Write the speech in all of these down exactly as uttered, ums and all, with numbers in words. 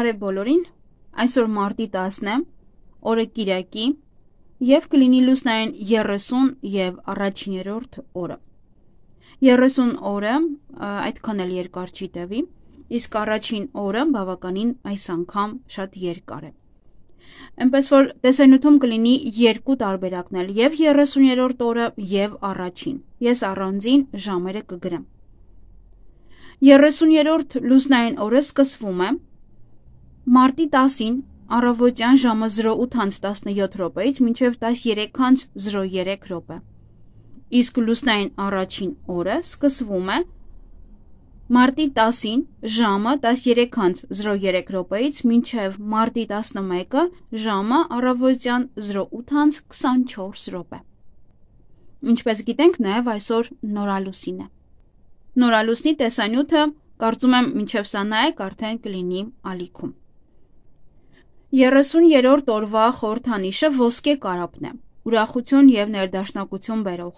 Բարև բոլորին, այսօր մարտի տասն է, օրը կիրակի և կլինի լուսնային երեսուն և առաջիներորդ օրը։ երեսուն օրը այդքան էլ երկար չի տևի, իսկ առաջին օրը բավականին այս անգամ շատ երկար է։ Էնպես որ տեսանյութում կլինի երկու տարբերակն էլ, և երեսուներորդ օրը և առաջին, ես առանձին ժամերը կգրեմ։ երեսուներորդ լուսնային օրը սկսվում է մարտի տասին առավոտյան ժամը զրո ութ հանց տասնյոթ րոպեից մինչև տասներեք հանց զրո երեք րոպե, իսկ լուսնային առաջին օրը սկսվում է մարտի տասին ժամը տասներեք հանց զրո երեք րոպեից մինչև մարտի տասնմեկը ժամը առավոտյան զրո ութ հանց քսանչորս րոպե։ Ինչպես գիտենք, նաև այսօր նորալուսին է։ Նորալուսնի տեսանյութը կարծում եմ մինչև սա նայեք արդեն կլինի ալիքում։ երեսուներորդ օրվա խորհրդանիշը ոսկե կարապն է, ուրախություն և ներդաշնակություն բերող։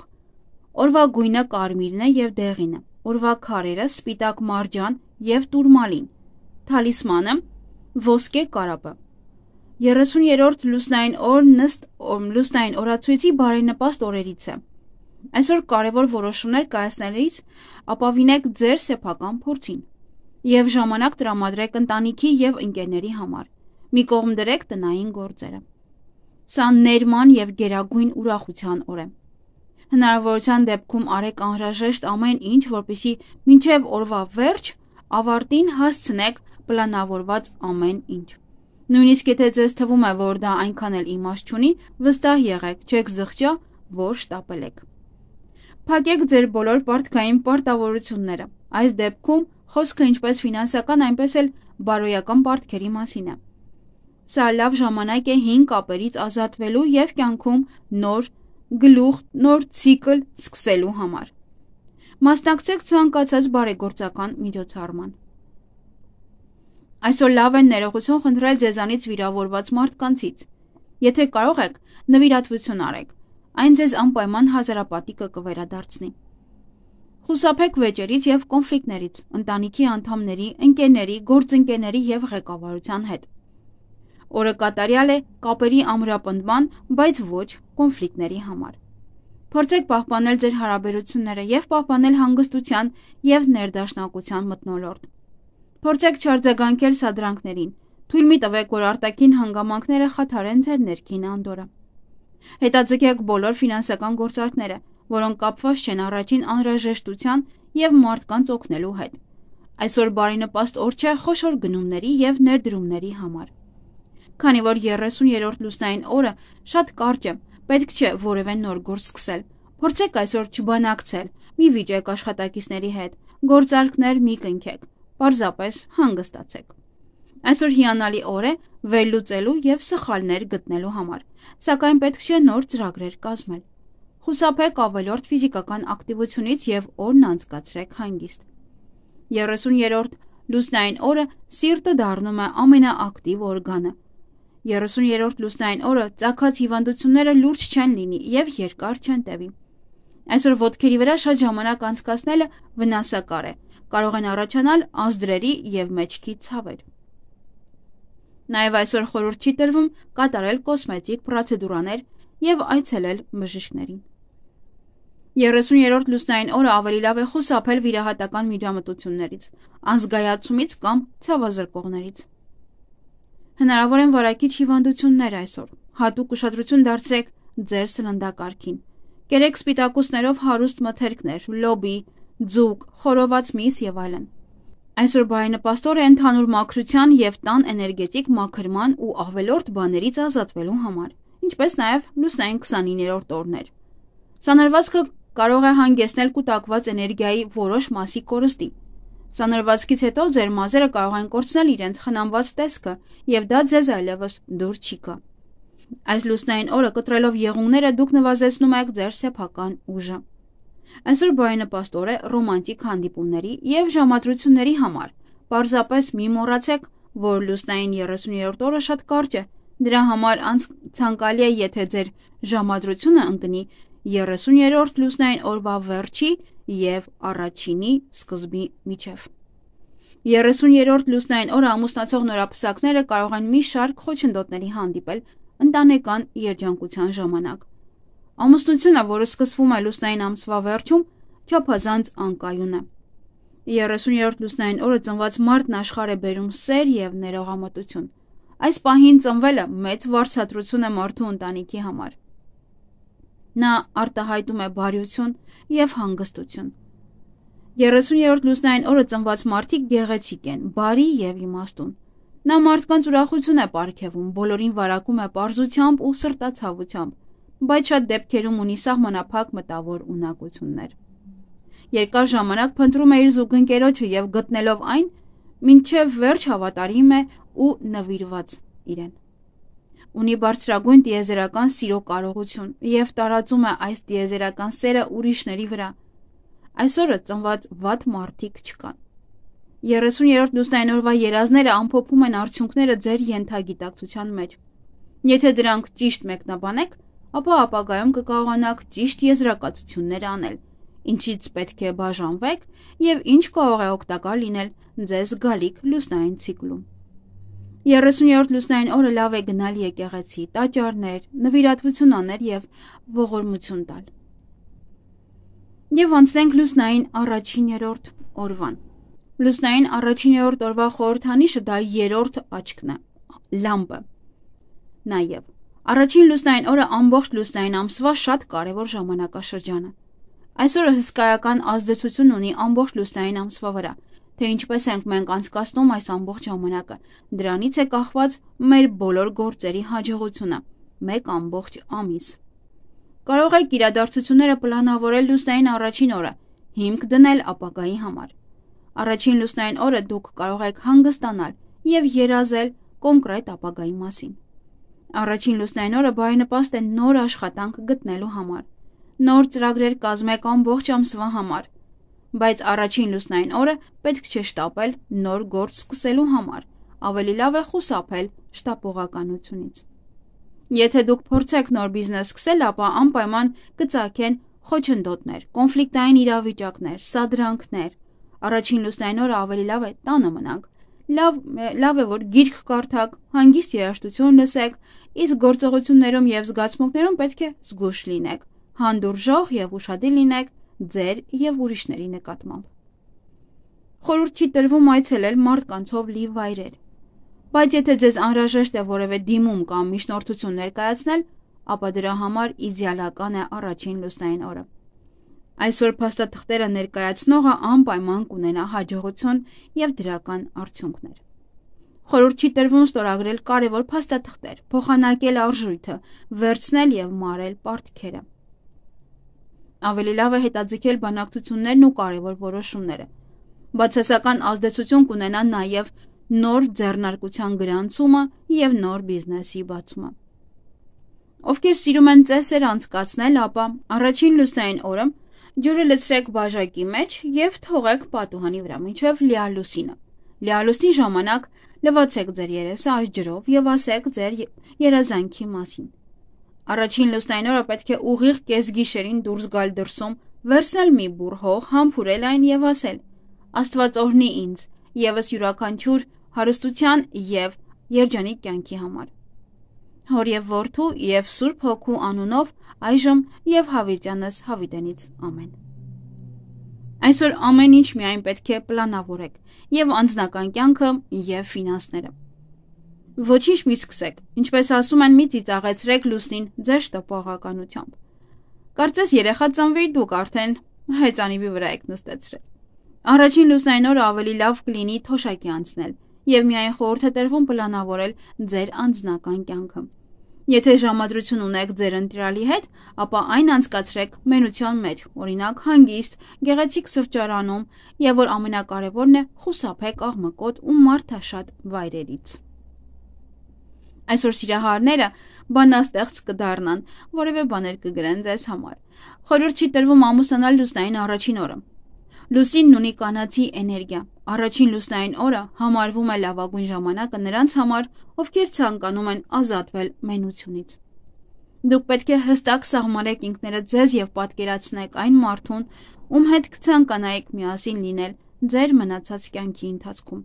Օրվա գույնը կարմիրն է և դեղինը, օրվա քարերը սպիտակ մարջան և տուրմալին, թալիսմանը ոսկե կարապը։ երեսուներորդ լուսնային օրն ըստ լուսնային օրացույցի բարենպաստ օրերից է։ Այսօր կարևոր որոշումներ կայացնելիս ապավինեք ձեր սեփական փորձին և ժամանակ տրամադրեք ընտանիքի և ընկերների համար, մի կողմ դրեք տնային գործերը։ Սա ներման և գերագույն ուրախության օր է։ Հնարավորության դեպքում արեք անհրաժեշտ ամեն ինչ, որպեսզի մինչև օրվա վերջ ավարտին հասցնեք պլանավորված ամեն ինչ։ Նույնիսկ եթե ձեզ թվում է, որ դա այնքան էլ իմաստ չունի, վստահ եղեք, չեք զղջա, որ շտապել եք։ Փակեք ձեր բոլոր պարտքային պարտավորությունները։ Այս դեպքում խոսքը ինչպես ֆինանսական, այնպես էլ բարոյական պարտքերի մասին է։ Սա լավ ժամանակ է հին կապերից ազատվելու և կյանքում նոր գլուխ, նոր ցիկլ սկսելու համար։ Մասնակցեք ցանկացած բարեգործական միջոցառման։ Այսօր լավ է ներողություն խնդրել ձեզանից վիրավորված մարդկանցից։ Եթե կարող եք, նվիրատվություն արեք, այն ձեզ անպայման հազարապատիկը կվերադարձնի։ Խուսափեք վեճերից և կոնֆլիկտներից ընտանիքի անդամների, ընկերների, գործընկերների և ղեկավարության հետ։ Օրը կատարյալ է կապերի ամրապնդման, բայց ոչ կոնֆլիկտների համար։ Փորձեք պահպանել ձեր հարաբերությունները և պահպանել հանգստության և ներդաշնակության մթնոլորտ։ Փորձեք չարձագանքել սադրանքներին, թույլ մի տվեք, որ արտաքին հանգամանքները խաթարեն ձեր ներքին անդորրը։ Հետաձգեք բոլոր ֆինանսական գործարքները, որոնք կապված չեն առաջին անհրաժեշտության և մարդկանց օգնելու հետ։ Այսօր բարենպաստ օր չէ խոշոր գնումների և ներդրումների համար։ Քանի որ երեսուներորդ լուսնային օրը շատ կարճ է, պետք չէ որևէ նոր գործ սկսել։ Փորձեք այսօր չբանակցել, մի վիճեք աշխատակիցների հետ, գործարքներ մի կնքեք, պարզապես հանգստացեք։ Այսօր հիանալի օր է վերլուծելու և սխալներ գտնելու համար, սակայն պետք չէ նոր ծրագրեր կազմել։ Խուսափեք ավելորդ ֆիզիկական ակտիվությունից և օրն անցկացրեք հանգիստ։ երեսուներորդ լուսնային օրը սիրտը դառնում է ամենաակտիվ օրգանը։ երեսուներորդ լուսնային օրը ծագած հիվանդությունները լուրջ չեն լինի և երկար չեն տևի։ Այսօր ոտքերի վրա շատ ժամանակ անցկացնելը վնասակար է, կարող են առաջանալ անձրևի և մեջքի ցավեր։ Նաև այսօր խորհուրդ չի տրվում կատարել կոսմետիկ պրոցեդուրաներ և այցելել բժիշկներին։ երեսուներորդ լուսնային օրը ավելի լավ է խուսափել վիրահատական միջամտություններից, անզգայացումից կամ ցավազրկողներից։ Հնարավոր են վարակիչ հիվանդություններ այսօր։ Հատուկ ուշադրություն դարձրեք ձեր սննդակարգին։ Կերեք սպիտակուցներով հարուստ մթերքներ, լոբի, ձուկ, խորոված միս և այլն։ Այսօր բարենպաստ օր է ընդհանուր մաքրության և տան էներգետիկ մաքրման ու ավելորդ բաներից ազատվելու համար, ինչպես նաև լուսնային քսանիններորդ օրներ։ Սանրվածքը կարող է հանգեցնել կուտակված էներգիայի որոշ մասի կորստի։ Սանրվածքից հետո ձեր մազերը կարող են կորցնել իրենց խնամված տեսքը, և դա ձեզ այլևս դուր չի գա։ Այս լուսնային օրը կտրելով եղունգները դուք նվազեցնում եք ձեր սեփական ուժը։ Այսօր բարենպաստ օր է ռոմանտիկ հանդիպումների և ժամադրությունների համար։ Պարզապես մի մոռացեք, որ լուսնային երեսուներորդ օրը շատ կարճ է, դրա համար ցանկալի է, եթե ձեր ժամադրությունը ընկնի երեսուներորդ լուսնային օրվա վերջի և առաջինի սկզբի միջև։ երեսուներորդ լուսնային օրը ամուսնացող նորապսակները կարող են մի շարք խոչընդոտների հանդիպել ընտանեկան երջանկության ժամանակ։ Ամուսնությունը, որը սկսվում է լուսնային ամսվա վերջում, չափազանց անկայուն է։ երեսուներորդ լուսնային օրը ծնված մարդն աշխարհ է բերում սեր և ներողամտություն։ Այս պահին ծնվելը մեծ վարձատրություն է մարդու ընտանիքի համար։ Նա արտահայտում է բարություն և հանգստություն։ երեսուներորդ լուսնային օրը ծնված մարդիկ գեղեցիկ են, բարի և իմաստուն։ Նա մարդկանց ուրախություն է պարգևում, բոլորին վարակում է պարզությամբ ու սրտացավությամբ, բայց շատ դեպքերում ունի սահմանափակ մտավոր ունակություններ։ Երկար ժամանակ փնտրում է իր զուգընկերոջը և գտնելով այն, մինչև վերջ հավատարիմ է ու նվիրված իրեն։ Ունի բարձրագույն տիեզերական սիրո կարողություն և տարածում է այս տիեզերական սերը ուրիշների վրա։ Այսօրը ծնված վատ մարդիկ չկան։ երեսուներորդ լուսնային օրվա երազները ամփոփում են արդյունքները ձեր ենթագիտակցության մեջ։ Եթե դրանք ճիշտ մեկնաբանեք, ապա ապագայում կկարողանաք ճիշտ եզրակացություններ անել, ինչից պետք է բաժանվեք և ինչ կարող է օգտակար լինել ձեզ գալիք լուսնային ցիկլում։ երեսուներորդ լուսնային օրը լավ է գնալ եկեղեցի, տաճարներ, նվիրատվություն անել և ողորմություն տալ։ Եվ անցնենք լուսնային առաջիներորդ օրվան։ Լուսնային առաջիներորդ օրվա խորհրդանիշը դա երրորդ աչքն է, լամպը։ Նաև առաջին լուսնային օրը ամբողջ լուսնային ամսվա շատ կարևոր ժամանակաշրջան է։ Այսօրը հսկայական ազդեցություն ունի ամբողջ լուսնային ամսվա վրա, թե ինչպես ենք մենք անցկացնում այս ամբողջ ժամանակը, դրանից է կախված մեր բոլոր գործերի հաջողությունը, մեկ ամբողջ ամիս։ Կարող եք իրադարձությունները պլանավորել լուսնային առաջին օրը, հիմք դնել ապագայի համար։ Առաջին լուսնային օրը դուք կարող եք հանգստանալ և երազել կոնկրետ ապագայի մասին։ Առաջին լուսնային օրը բարենպաստ է նոր աշխատանք գտնելու համար։ Նոր ծրագրեր կազմեք ամբողջ ամսվա համար, բայց առաջին լուսնային օրը պետք չէ շտապել նոր գործ սկսելու համար, ավելի լավ է խուսափել շտապողականությունից։ Եթե դուք փորձեք նոր բիզնես սկսել, ապա անպայման կծագեն խոչընդոտներ, կոնֆլիկտային իրավիճակներ, սադրանքներ։ Առաջին լուսնային օրը ավելի լավ է տանը մնանք, լավ, լավ է, որ գիրք կարդաք, հանգիստ երաժշտություն լսեք, իսկ գործողություններում և զգացմունքներում պետք է զգույշ լինեք, հանդուրժող և ուշադիր լինեք ձեր և ուրիշների նկատմամբ։ Խորհուրդ չի տրվում այցելել մարդկանցով լի վայրեր, բայց եթե ձեզ անհրաժեշտ է որևէ դիմում կամ միջնորդություն ներկայացնել, ապա դրա համար իդեալական է առաջին լուսնային օրը։ Այսօր փաստաթղթերը ներկայացնողը անպայման կունենա հաջողություն և դրական արդյունքներ։ Խորհուրդ չի տրվում ստորագրել կարևոր փաստաթղթեր, փոխանակել արժույթը, վերցնել և մարել պարտքերը։ Ավելի լավ է հետաձգել բանակցություններն ու կարևոր որոշումները։ Բացասական ազդեցություն կունենա նաև նոր ձեռնարկության գրանցումը և նոր բիզնեսի բացումը։ Ովքեր սիրում են ծեսեր անցկացնել, ապա առաջին լուսնային օրը ջուրը լցրեք բաժակի մեջ և թողեք պատուհանի վրա մինչև լիալուսինը։ Լիալուսնի ժամանակ լվացեք ձեր երեսը այս ջրով և ասեք ձեր երազանքի մասին։ Առաջին լուսնային օրը պետք է ուղիղ կեսգիշերին դուրս գալ դրսում, վերցնել մի բուռ հող, համբուրել այն և ասել. Աստված օրհնի ինձ ևս յուրաքանչյուր հարստության և երջանիկ կյանքի համար։ Հոր և որդու և Սուրբ Հոգու անունով այժմ և հավիտյանս հավիտենից ամեն։ Այսօր ամեն ինչ միայն պետք է պլանավորեք, և անձնական կյանքը, և ֆինանսները։ Ոչինչ մի սկսեք, ինչպես ասում են, մի ծիծաղեցրեք լուսնին ձեր շտապողականությամբ։ Կարծես երեխա ծնվի, դուք արդեն հեծանիվի վրա եք նստեցրել։ Առաջին լուսնային օրը ավելի լավ կլինի թոշակի անցնել, և միայն խորհուրդ է տրվում պլանավորել ձեր անձնական կյանքը։ Եթե ժամադրություն ունեք ձեր ընտրյալի հետ, ապա այն անցկացրեք մենության մեջ, օրինակ հանգիստ, գեղեցիկ սրճարանում, և որ ամենակարևորն է, խուսափեք աղմկոտ ու մարդաշատ վայրերից։ Այսօր սիրահարները բանաստեղծ կդառնան, որևէ բաներ կգրեն ձեզ համար։ Խորհուրդ չի տրվում ամուսնանալ լուսնային առաջին օրը։ Լուսինն ունի կանացի էներգիա։ Առաջին լուսնային օրը համարվում է լավագույն ժամանակը նրանց համար, ովքեր ցանկանում են ազատվել մենությունից։ Դուք պետք է հստակ սահմանեք ինքներդ ձեզ և պատկերացնեք այն մարդուն, ում հետ կցանկանայիք միասին լինել ձեր մնացած կյանքի ընթացքում։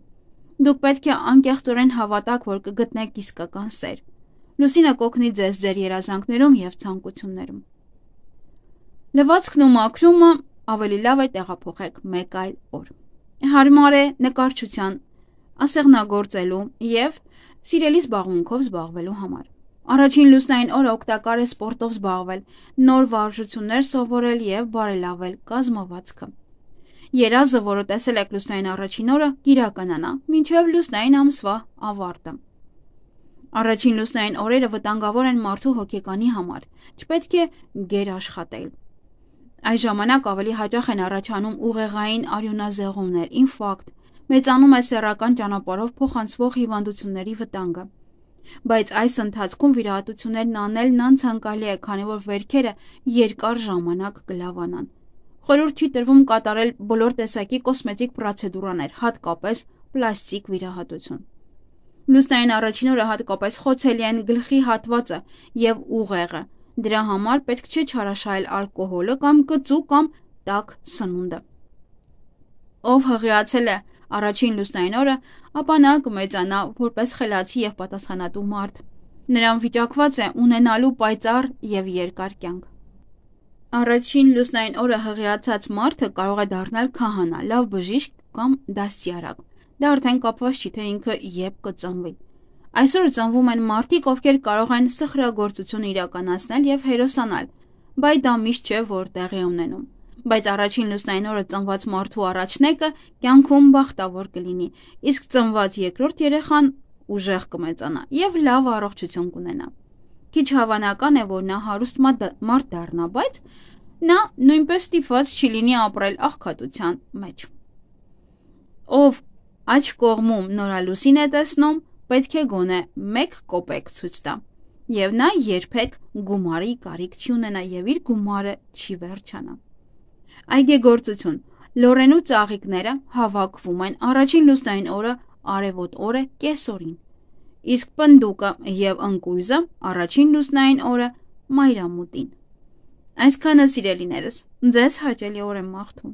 Դուք պետք է անկեղծորեն հավատաք, որ կգտնեք իսկական սեր։ Լուսինը կօգնի ձեզ ձեր երազանքներում և ցանկություններում։ Լվացքն ու մաքրումը ավելի լավ է տեղափոխեք մեկ այլ օր։ Հարմար է նկարչության, ասեղնագործելու և սիրելի զբաղմունքով զբաղվելու համար։ Առաջին լուսնային օրը օգտակար է սպորտով զբաղվել, նոր վարժություններ սովորել և բարելավել կազմվածքը։ Երազը, որը տեսել եք լուսնային առաջին օրը, կիրականանա մինչև լուսնային ամսվա ավարտը։ Առաջին լուսնային օրերը վտանգավոր են մարդու հոգեկանի համար, չպետք է գեր աշխատել։ Այս ժամանակ ավելի հաճախ են առաջանում ուղեղային արյունազեղումներ, ինֆարկտ, մեծանում է սեռական ճանապարհով փոխանցվող հիվանդությունների վտանգը։ Բայց այս ընթացքում վիրահատություններն անելն անցանկալի է, քանի որ վերքերը երկար ժամանակ կլավանան։ Խորհուրդ չի տրվում կատարել բոլոր տեսակի կոսմետիկ պրոցեդուրաներ, հատկապես պլաստիկ վիրահատություն։ Լուսնային առաջին օրը հատկապես խոցելի են գլխի հատվածը և ուղեղը։ Դրա համար պետք չէ չարաշահել ալկոհոլը կամ կծու կամ տաք սնունդը։ Ով հղիացել է առաջին լուսնային օրը, ապա նա կմեծանա որպես խելացի և պատասխանատու մարդ։ Նրան վիճակված է ունենալու պայծառ և երկար կյանք։ Առաջին լուսնային օրը հղիացած մարդը կարող է դառնալ քահանա, լավ բժիշկ կամ դաստիարակ։ Դա արդեն կապված չի, թե ինքը երբ կծնվի։ Այսօր ծնվում են մարդիկ, ովքեր կարող են սխրագործություն իրականացնել և հերոսանալ, բայց դա միշտ չէ, որ տեղի ունենում։ Բայց առաջին լուսնային օրը ծնված մարդու առաջնեկը կյանքում բախտավոր կլինի, իսկ ծնված երկրորդ երեխան ուժեղ կմեծանա և լավ առողջություն կունենա։ Քիչ հավանական է, որ նա հարուստ մարդ դառնա, բայց նա նույնպես ստիպված չի լինի ապրել աղքատության մեջ։ Ով աջ կողմում նորալուսին է տեսնում, պետք է գոնե մեկ կոպեկ ցույց տա, և նա երբեք գումարի կարիք չի ունենա և իր գումարը չի վերջանա։ Այգեգործություն։ Լոռենու ծաղիկները հավաքվում են առաջին լուսնային օրը արևոտ օրը կեսօրին, իսկ պնդուկը և ընկույզը առաջին լուսնային օրը մայրամուտին։ Այսքանը, սիրելիներս, ձեզ հաճելի օր եմ մաղթում։